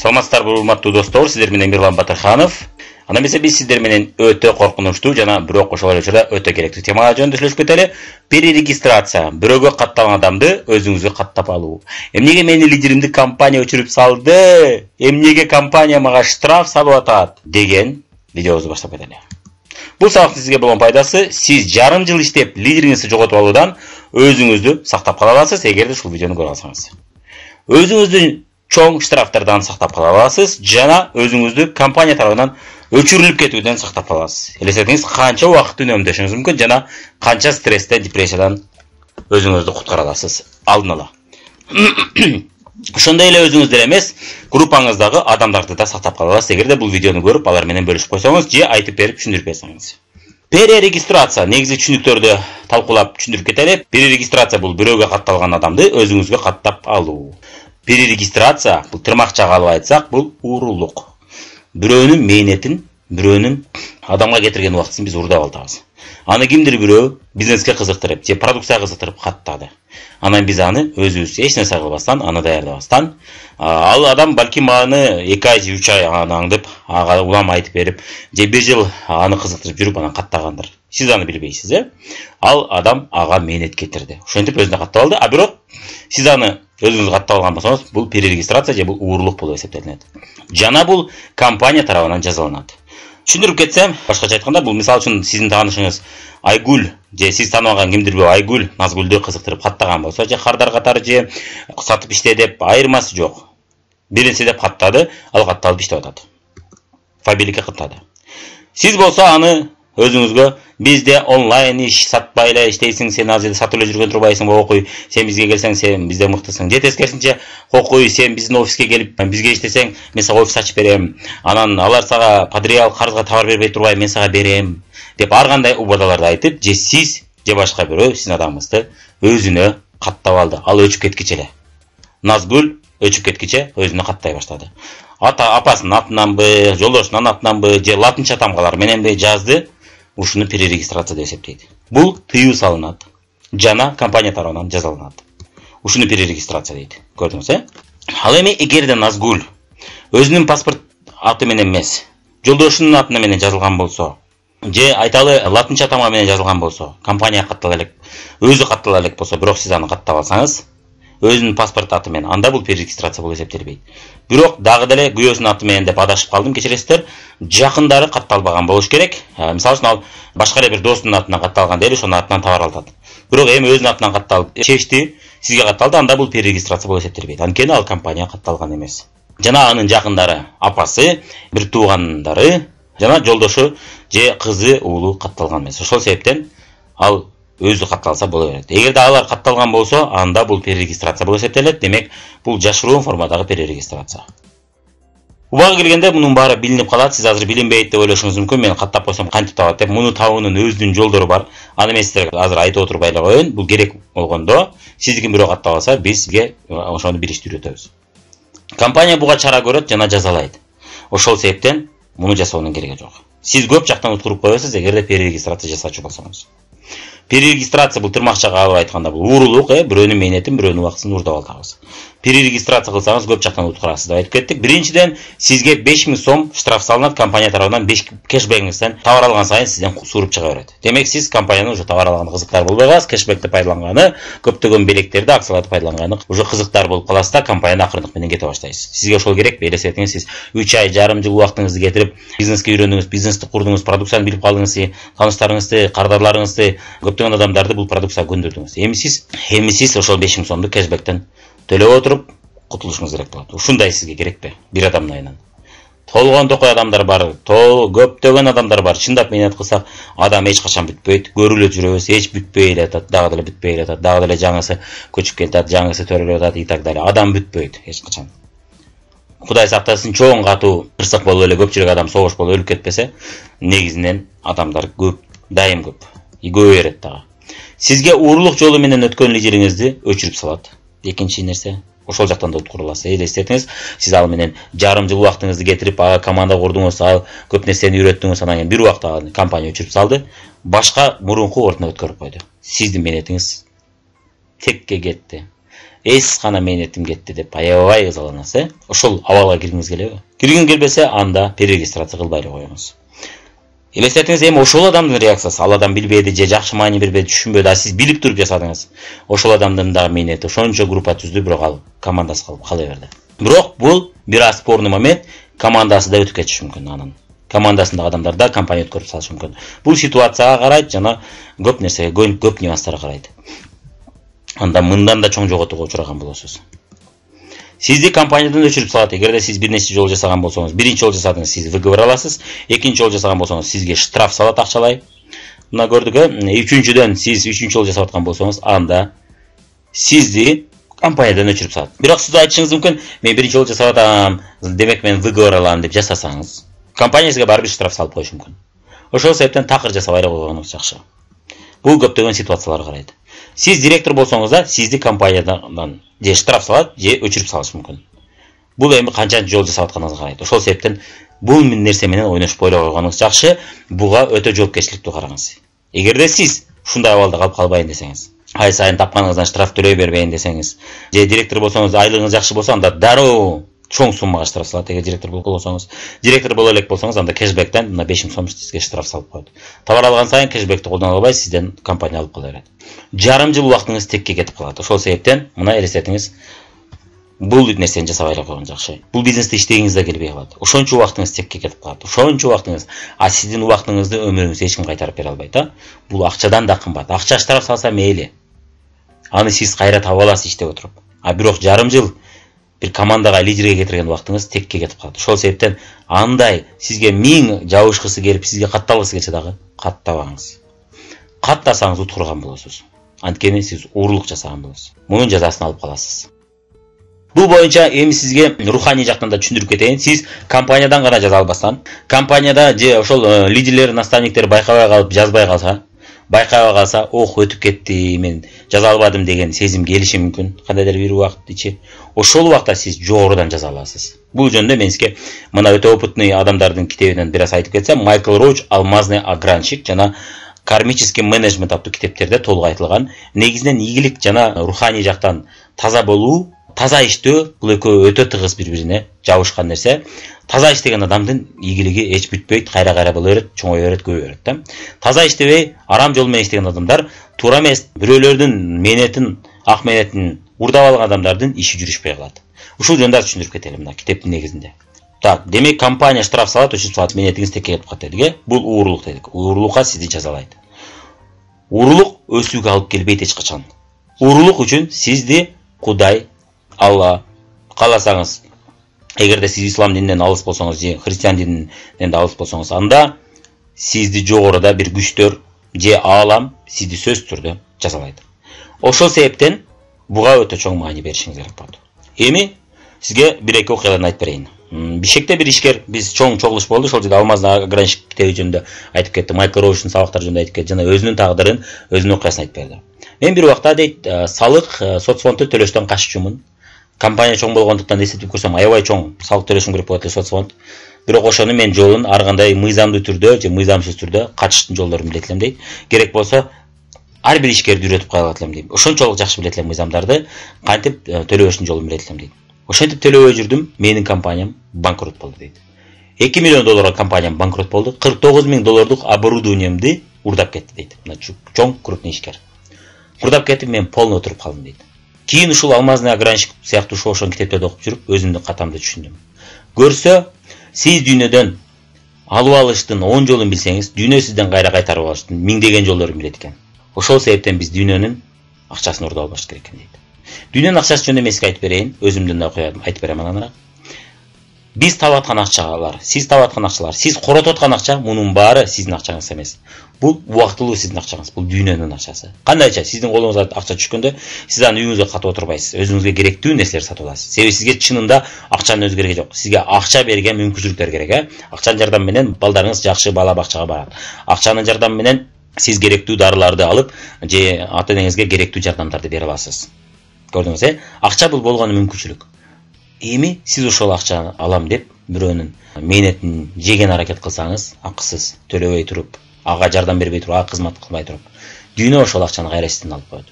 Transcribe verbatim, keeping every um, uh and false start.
Саламатсыздарбы, урматтуу достор, сиздер менен Мирлан Батырханов. Анда эмесе биз сиздер менен өтө коркунучтуу жана бирок ошол эле учурда өтө керектүү темага жөнүндө сүйлөшүп кетели. Перерегистрация, бирөөгө катталган адамды өзүңүзгө каттап алуу. Эмнеге мени лидеримди компания өчүрүп салды? Эмнеге компания мага штраф салып атат? Деген видеобузду баштап кетели. Бул сабактын сизге болгон пайдасы, сиз жарым жыл иштеп лидериңизди жоготуп алуудан өзүңүздү сактап кала аласыз, эгерде ушул видеону көрүп алсаңыз. Өзүңүздү чоң штрафтардан сактап кала аласыз жана өзүңүздү компания тарабынан өчүрүлүп кетүүдөн сактап каласыз. Элестетиңиз, канча убакыт үнөмдөшүңүз мүмкүн жана канча стресстен, депрессиядан өзүңүздү куткара аласыз алдын ала. Ошондой эле өзүңүз деле эмес, группаңыздагы адамдарды да сактап кала аласыз, эгерде бул видеону көрүп, алар менен бөлүшүп койсоңуз же айтып берип түшүндүрүп берсеңиз. Перерегистрация негизи түшүнүктөрдү талкуулап түшүндүрүп кетели. Перерегистрация бул бирөөгө катталган адамды өзүңүзгө каттап алуу. Перерегистрация бул тырмакчага алып айтсак, бул уурулук. Бирөөнүн мээнетин, бирөөнүн адамга кетирген убактысын биз уурдап алабыз. Аны кимдир бирөө бизнеске кызыктырып, же продукцияга кызыктырып каттады. Анан биз аны өзүбүз эч нерсе кылбастан, аны даярдабастан, ал адам балким аны эки ай же үч ай аны аңдып, ага улам айтып берип, же бир жыл аны кызыктырып жүрүп анан каттагандыр. Сиз аны билбейсиз, э? Ал адам ага мээнет кетирди. Ошентип өзүнө каттап алды, а бирок сиз аны өзүңүз каттап алган болсоңуз, бул перерегистрация же бул уурулук болуп эсептелинет. Жана бул компания тарабынан жазаланат. Түшүндүрүп кетсем, башкача айтканда, бул мисалы үчүн сиздин таанышыңыз Айгүл же сиз тааныбаган кимдир бирөө Айгүл Назгүлдү кызыктырып каттаган болсо, же кардар катары же сатып иште деп айырмасы жок. Биринси деп каттады, ал катталып иштеп атат. Фабиликке каттады. Сиз болсо аны өзүңүзгө бизде онлайн иш сатпай эле иштейсиң, сен азыр сатып эле жүргөн турбайсыңбы, окуй, сен бизге келсең, сен бизде мыктысың. Же тескерисинче, окуй, сен биздин офиске келип, бизге иштесең, мен сага офис ачып берем. Анан алар сага подреал карызга товар бербей турбай, мен сага берем деп ар кандай убадаларды айтып, же сиз, же башка бирөө сиздин адамыңызды өзүнө каттап алды. Ал өчүп кеткиче эле. Назгүл өчүп кеткиче өзүнө каттай баштады. Ата апасынын атынанбы, жолдошунун атынанбы, же латынча тамгалар мененби жазды. Ушуну перерегистрация деп эсептейт. Бул тыюу салынат жана компания тарабынан жазаланат. Ушуну перерегистрация дейт. Көрдүңүз, э? Ал эми эгерде Назгүл өзүнүн паспорт аты менен эмес, жолдошунун аты менен жазылган болсо, же айталы латынча тамга менен жазылган болсо, компания каттала элек, өзү каттала элек болсо, бирок сиз аны каттап алсаңыз, өзүнүн паспорт аты менен, анда бул перерегистрация болуп эсептелбейт. Бирок дагы деле күйөөсүнүн аты менен деп адашып калдым, кечиресиздер. Жакындары катталбаган болуш керек. Мисалы үчүн ал башка эле бир достунун атынан катталган дейли, ошонун атынан товар алат. Бирок эми өзүнүн атынан катталып, чечти, сизге катталды, анда бул перерегистрация болуп эсептелбейт. Анткени ал компанияга катталган эмес. Жана анын жакындары, апасы, бир туугандары, жана жолдошу же кызы, уулу катталган эмес. Ошол себептен ал өзү катталса боло берет. Эгерде алар катталган болсо, анда бул перерегистрация болуп эсептелет. Демек, бул жашыруун формадагы перерегистрация. Убагы келгенде мунун баары билинип калат. Сиз азыр билинбейт деп ойлошуңуз мүмкүн. Мен каттап койсом кантип табат деп. Муну табуунун өзүнүн жолдору бар. Аны мен сиздерге азыр айтып отурбай эле коеюн. Бул керек болгондо, сиздикин бирөө каттап алса, биз сизге ошону бир ишти үйрөтөбүз. Компания буга чара көрөт жана жазалайт. Ошол себептен муну жасоонун кереги жок. Сиз көп жактан уткуруп коесуз, эгерде перерегистрация жасачу болсоңуз. Перерегистрация бул тырмакчага алып айтканда бул уурулук, э, бирөөнүн мээнетин, бирөөнүн убактысын уурдап алабыз. Перерегистрация кылсаңыз көп жактан уткурасыз деп айтып кеттик. Биринчиден, сизге беш миң сом штраф салынат, компания тарабынан беш кэшбэкиңизден товар алган сайын сизден сууруп чыга берет. Демек, сиз компаниянын уже товар алган кызыктар болбой каласыз, кэшбэкти пайдаланганы, көптөгөн белектерди, акцияларды пайдаланганы уже кызыктар болуп каласыз да, компанияны акырындык менен кете баштайсыз. Сизге ошол керекпи? Элестетиңиз, сиз үч ай, жарым жыл убактыңызды кетирип, бизнеске үйрөндүңүз, бизнести курдуңуз, продукцияны билип калдыңыз, таныштарыңызды, кардарларыңызды, көптөгөн адамдарды бул продукцияга көндүрдүңүз. Эми сиз, эми сиз ошол беш миң сомду кэшбэктен төлөп отуруп кутулушуңуз керек болот. Ушундай сизге керекпи? Бир адамдын айынан. Толгон токой адамдар бар, тол көптөгөн адамдар бар. Чындап мээнет кылсак, адам эч качан бүтпөйт. Көрүлө жүрөбүз, эч бүтпөй эле атат, дагы деле бүтпөй эле атат, дагы деле жаңысы көчүп кетет, жаңысы төрөлүп атат и так далее. Адам бүтпөйт эч качан. Кудай сактасын, чоң катуу кырсык болуп эле көпчүлүк адам согуш болуп өлүп кетпесе, негизинен адамдар көп, дайым көп. И көп берет дагы. Сизге уурулук жолу менен өткөн лидериңизди өчүрүп салат. Экинчи нерсе, ошол жактан да уткура аласыз. Элестетиңиз, сиз ал менен жарым жыл убактыңызды кетирип, ага команда курдуңуз, ал көп нерсени үйрөттүңүз, анан кийин бир убакта компания өчүрүп салды, башка мурунку ордуна өткөрүп койду. Сиздин мээнетиңиз текке кетти. эс кана мээнетим кетти деп аябай ызаланасыз, э? Ошол абалга киргиңиз келеби? Киргиң келбесе, анда перерегистрация кылбай эле коюңуз. Элестетиңиз, эми ошол адамдын реакциясы, ал адам билбеди же жакшы маани бербеди, түшүнбөдү, а сиз билип туруп жасадыңыз. Ошол адамдын дагы мээнети ошончо группа түздү, бирок ал командасы калып кала берди. Бирок бул бир аз спорный момент, командасы да өтүп кетиши мүмкүн анын. Командасындагы адамдар да компания өткөрүп салышы мүмкүн. Бул ситуацияга карайт, жана көп нерсеге, көп нюанстарга карайт. Анда мындан да чоң жоготууга учураган болосуз. Сизди компаниядан өчүрүп салат. Эгерде сиз бир нече жол жасаган болсоңуз, биринчи жол жасадыңыз, сиз выговор аласыз. Экинчи жол жасаган болсоңуз, сизге штраф салат акчалай. Мына көрдүк, э? Үчүнчүдөн сиз үчүнчү жол жасап аткан болсоңуз, анда сизди компаниядан өчүрүп салат. Бирок сиз айтышыңыз мүмкүн, мен биринчи жол жасап атам, демек мен выговор алам деп жасасаңыз, компания сизге барбыр штраф салып коюшу мүмкүн. Ошол себептен такыр жасабай эле койгонуңуз жакшы. Бул көптөгөн ситуацияларга карайт. Сиз директор болсоңуз да, сизди компаниядан же штраф салат, же өчүрүп салышы мүмкүн. Бул эми канчанчы жол жасап атканыңызга карайт. Ошол себептен бул нерсе менен ойношпой эле койгонуңуз жакшы. Буга өтө жоопкерчиликтүү караңыз. Эгерде сиз ушундай абалда калып калбайын десеңиз, ай сайын тапканыңыздан штраф төлөй бербейин десеңиз, же директор болсоңуз, айлыгыңыз жакшы болсо, анда дароо чоң суммага штраф салат. Эгер директор болсоңуз, директор боло элек болсоңуз, анда кэшбэктен мына беш миң сом сизге штраф салып коет. Товар алган сайын кэшбэкти колдоно албай, сизден компания алып кала берет. Жарым жыл убактыңыз текке кетип калат. Ошол себептен мына элестетиңиз, бул нерсени жасабай эле койгон жакшы. Бул бизнесте иштегиңиз да келбей калат. Ошончо убактыңыз текке кетип калат. Ошончо убактыңыз, а сиздин убактыңызды өмүрүңүзгө эч ким кайтарып бере албайт, а? Бул акчадан да кымбат. Акча штраф салса мейли. Аны сиз кайра таап аласыз иштеп отуруп. А бирок жарым жыл бир командага лидерге кетирген убактыңыз текке кетип калат. Ошол себептен андай сизге миң жабышкысы келип, сизге катталгысы келсе дагы каттабаңыз. Каттасаңыз уткурган болосуз. Анткени сиз уурлук жасаган болосуз. Мунун жазасын алып каласыз. Бул боюнча эми сизге руханий жактан да түшүндүрүп кетейин. Сиз компаниядан гана жаза албастан, компанияда же ошол лидерлер, наставниктер байкабай калып жазбай калса, байкабай калса, ох, өтүп кетти, мен жаза албадым деген сезим келиши мүмкүн. Кандайдыр бир убакыт ичи. Ошол убакта сиз жогорудан жаза аласыз. Бул жөнүндө мен сизге мына өтө опытный адамдардын китебинен бир аз айтып кетсем, Майкл Роуч «Алмазный огранщик» жана «Кармический менеджмент» аттуу китептерде толук айтылган. Негизинен ийгилик жана руханий жактан таза болуу, таза иштөө, бул экөө өтө тыгыз бири-бирине жабышкан нерсе. Таза иштеген адамдын ийгилиги эч бүтпөйт, кайра-кайра боло берет, чоңое берет, көбөйө берет да. Таза иштебей, арам жол менен иштеген адамдар туура эмес, бирөөлөрдүн мээнетин, ак мээнетин урдап алган адамдардын иши жүрүшпөй калат. Ушул жөнүндө түшүндүрүп кетели мына китептин негизинде. Так, демек компания штраф салат, өчүп салат, мээнетиңиз текке кетип калат дедик, э? Бул уурлук дедик. Уурлукка сизди жазалайт. Уурлук өсүүгө алып келбейт эч качан. Уурлук үчүн сизди Кудай, Алла кааласаңыз, эгерде сиз ислам дининен алыс болсоңуз, же христиан дининен алыс болсоңуз, анда сизди жогоруда бир күчтөр же аалам сизди сөзсүз түрдө жазалайт. Ошол себептен буга өтө чоң маани беришиңиз керек болот. Эми сизге бир эки окуяларды айтып берейин. Бишкекте бир ишкер, биз чоң чогулуш болду, ошол жерде «Алмазный огранщик» китеби жөнүндө айтып кетти, Майкл Роучтун сабактары жөнүндө айтып кетти, жана өзүнүн тагдырын, өзүнүн окуясын айтып берди. Мен бир убакта дейт, салык, соцфондду төлөштөн каччумун. Компания чоң болгондуктан эсептеп көрсөм, аябай чоң салык төлөшүм керек болот эле соцфонд. Бирок ошону мен жолун ар кандай мыйзамдуу түрдө же мыйзамсыз түрдө качыштын жолдорун билет элем дейт. Керек болсо ар бир ишкерди үйрөтүп кое алат элем дейт. Ошончолук жакшы билет элем мыйзамдарды, кантип төлөбөштүн жолун билет элем дейт. Ошентип төлөбөй жүрдүм, менин компаниям банкрот болду дейт. эки миллион долларга компаниям банкрот болду, кырк тогуз миң доллардык оборудованиемди урдап кетти дейт. Мына чоң крупный ишкер. Урдап кетип, мен полный отуруп калдым дейт. Кийин ушул «Алмазный огранщик» сыяктуу ошон китептерди окуп жүрүп, өзүмдүн катамды түшүндүм. Көрсө, сиз дүйнөдөн алып алыштын он жолун билсеңиз, дүйнө сизден кайра кайтарып алыштын миңдеген жолдорун билет экен. Ошол себептен биз дүйнөнүн акчасын урдап албаш керек экен дейт. Дүйнөнүн акчасы жөнүндө мен сизге айтып берейин, өзүмдүн да окуям айтып берем анан. Биз таап аткан акчалар, сиз таап аткан акчалар, сиз коротуп аткан акча, мунун баары сиздин акчаңыз эмес. Бул убактылуу сиздин акчаңыз, бул дүйнөнүн акчасы. Кандайча сиздин колуңузга акча түшкөндө, сиз аны үйүңүзгө катып отурбайсыз, өзүңүзгө керектүү нерселерди сатып аласыз. Себеби сизге чынында акчанын өзү кереги жок. Сизге акча берген мүмкүнчүлүктөр керек, э? Акчанын жардамы менен балдарыңыз жакшы бала бакчага барат. Акчанын жардамы менен сиз керектүү дарыларды алып, же ата-энеңизге керектүү жардамдарды бере аласыз. Көрдүңүз, э? Акча бул болгону мүмкүнчүлүк. Эми сиз ошол акчаны алам деп бирөөнүн мээнетин жеген аракет кылсаңыз, акысыз төлөбөй туруп, ага жардам бербей туруп, ага кызмат кылбай туруп, дүйнө ошол акчаны кайра сизден алып коет.